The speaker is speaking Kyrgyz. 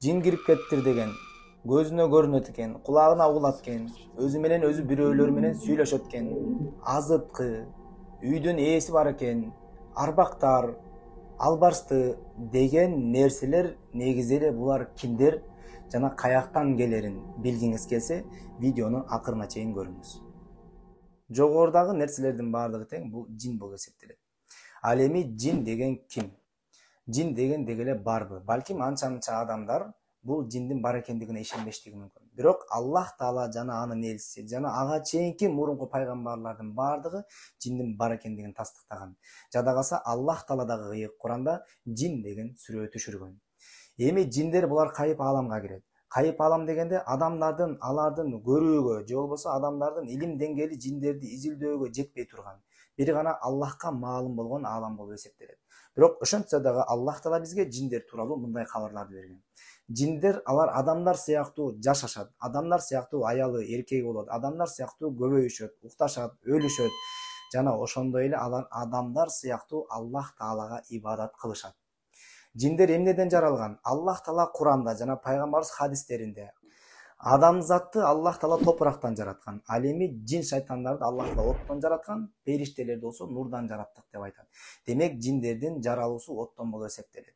Жин кирип кеттир деген көзүнө көрүнөт экен, кулагына угулат экен, өзү менен өзү бирөөлөр менен сүйлөшөт экен. Азыткы, үйдүн ээси бар экен, арбактар, албарсты деген нерселер негизи эле булар кимдер жана каяктан келерин билгиңиз келсе, видеону акырына чейин көрүңүз. Жогорудагы нерселердин баардыгы тең бул жин болуп эсептелет. Ал эми жин деген ким? Жин деген деги эле барбы? Балким анча адамдар бул жиндин бар экендигине ишенбештиги мүмкүн. Бирок Аллах Таала жана анын элчиси жана ага чейинки мурунку пайгамбарлардын баардыгы жиндин бар экендигин тастыктаган. Жада калса Аллах Таала дагы ыйык Куранда жин деген сүрө түшүргөн. Эми жиндер булар кайып ааламга кирет. Кайып аалам дегенде адамдардын алардын көрүүгө же болбосо адамдардын илим деңгээли жиндерди изилдөөгө жетпей турган бир гана Аллахка маалым болгон аалам болуп эсептелет. Бирок ошентсе дагы Аллах Таала бизге жиндер тууралуу мындай кабарларды берген. Жиндер алар адамдар сыяктуу жашашат, адамдар сыяктуу аялы, эркеги болот, адамдар сыяктуу көбөйүшөт, укташат, өлүшөт жана ошондой эле алар адамдар сыяктуу Аллах Таалага ибадат кылышат. Жиндер эмнеден жаралган? Аллах Таала Куранда жана пайгамбарыбыз хадистеринде адамзатты Аллах Таала топурактан жараткан. Ал эми жин шайтандарды Аллах Таала оттон жараткан, периштелерди болсо нурдан жараттык деп айтат. Демек жиндердин жаралуусу оттон болуп эсептелет.